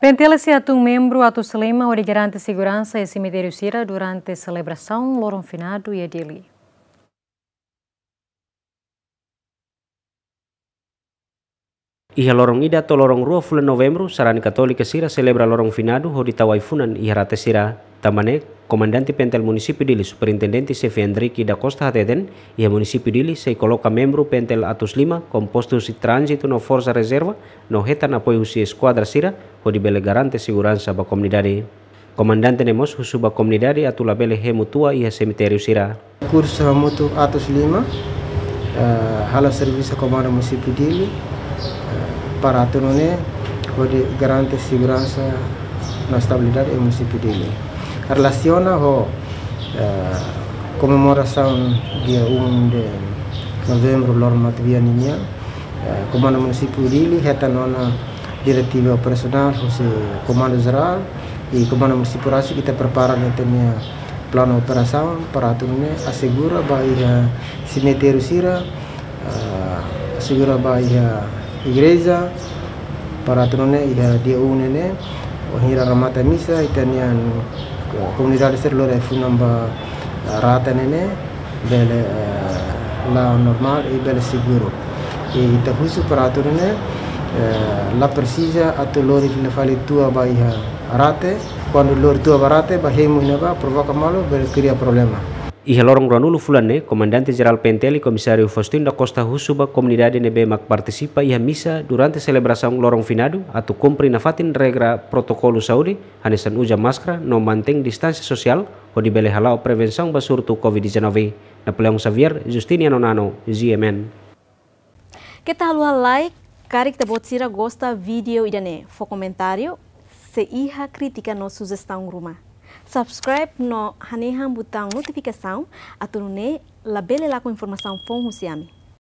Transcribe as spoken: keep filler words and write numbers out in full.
PNTL sei hatun membru atus lima hodi garante seguransa iha semitériu sira durante selebrasaun loron finadu iha Dili. Iha loron ida to'o loron rua fulan Novembru, sarani Katólika sira selebra loron finadu hodi tau ai-funan iha rate sira. Tanba ne'e, Komandante PNTL Munisípiu Dili, Superintendente Xefe Hendrick da Costa hateten, iha Munisípiu Dili sei koloka membru PNTL atus lima, kompostu husi tránzitu no forsa rezerva, no hetan apoiu husi eskuadra sira, hodi bele garante seguransa ba komunidade. Komandante ne'e mós husu ba komunidade atu labele hemu tua iha semitériu sira. Kursu hamutuk atus lima, eh, halo servisu Komandu Munisípiu Dili, eh, para atu nune'e hodi garante seguransa no estabilidade iha Munisípiu Dili. Relasiona ho, eh, komemorasaun dia um de Novembru, loron matebian ninian, eh, Komandu Munisípiu Dili hetan ona diretiva operasionál husi Komandu Jerál i Komandu Munisípiu rasik ita prepara ita-nia planu operasaun para atu nune'e asegura ba iha semitériu sira, eh, asegura ba iha igreja, para atu nune'e iha dia um ne'e, wainhira remata misa, ita-nia, eh, komunidade sira lori ai-funan ba, eh, rate ne'e, bele, eh, la'o normál i bele seguru. I ita husu para atu nune'e, eh, la presiza atu lori fila fali tua ba iha rate, kuandu lori tua ba rate, ba hemu iha ne'ebá, provoka malu, bele kria problema. Iha loron ruanulu fulan ne'e, Komandante Jerál PNTL Komisáriu Faustin da Costa husu ba komunidade ne'ebé mak partisipa iha misa durante selebrasaun loron finadu atu kumpre nafatin regra protokolu saúde, hanesan uza máskara no mantein distánsia sosiál, hodi bele hala'o prevensaun ba surtu Covid dezanove. Napoleão Xavier, Justiniano Nano, G M N. Keta haluha like, karik ita-boot sira gosta vídeo ida-ne'e, fó komentáriu, se iha krítika no sujestaun ruma. Subscribe no hanehan butaun notifikasaun, atu nune'e labele lakon informasaun foun husi ami.